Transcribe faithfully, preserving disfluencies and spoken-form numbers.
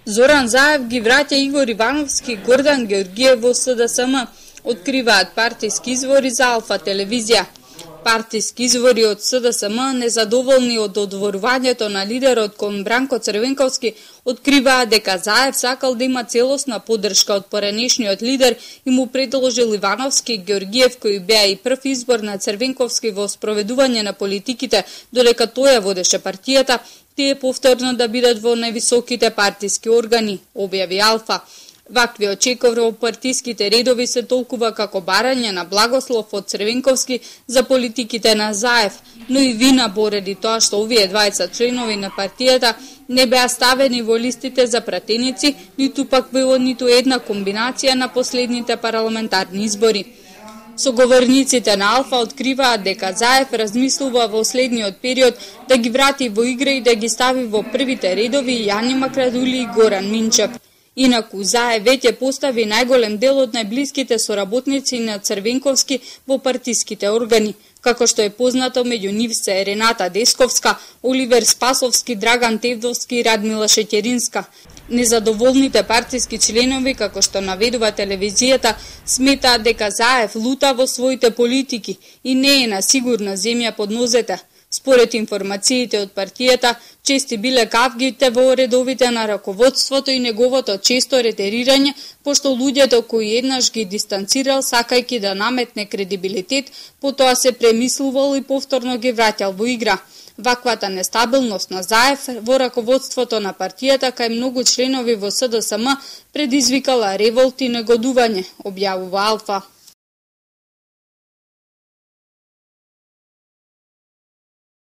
Зоран Заев ги враќа Игор Ивановски и Гордан Георгиев во С Д С М, откриваат партиски извори за Алфа телевизија. Партиски извори од С Д С М, незадоволни од одворувањето на лидерот кон Бранко Црвенковски, откриваат дека Заев сакал да има целосна поддршка од поранешниот лидер и му предложил Ивановски и Георгиев, кои беа и прв избор на Црвенковски во спроведување на политиките, додека тој ја водеше партијата, тие повторно да бидат во највисоките партиски органи, објави Алфа. Вакви очекор во партиските редови се толкува како барање на благослов од Црвенковски за политиките на Заев, но и вина поради тоа што овие дваесет членови на партијата не беа ставени во листите за пратеници, ниту пак во ниту една комбинација на последните парламентарни избори. Соговорниците на Алфа откриваат дека Заев размислува во следниот период да ги врати во игра и да ги стави во првите редови Јани Макрадули и Горан Минчев. Инаку Заев веќе постави најголем дел од најблиските соработници на Црвенковски во партиските органи, како што е познато меѓу нив се Рената Десковска, Оливер Спасовски, Драган Тевдовски и Радмила Шеќеринска. Незадоволните партиски членови, како што наведува телевизијата, сметаат дека Заев лута во своите политики и не е на сигурна земја под нозете. Според информациите од партијата, чести биле кавгите во редовите на раководството и неговото често ретерирање, пошто луѓето кои еднаш ги дистанцирал сакајќи да наметне кредибилитет, потоа се премислувал и повторно ги враќал во игра. Ваквата нестабилност на Заев во раководството на партијата кај многу членови во С Д С М предизвикала револт и негодување, објавува Алфа.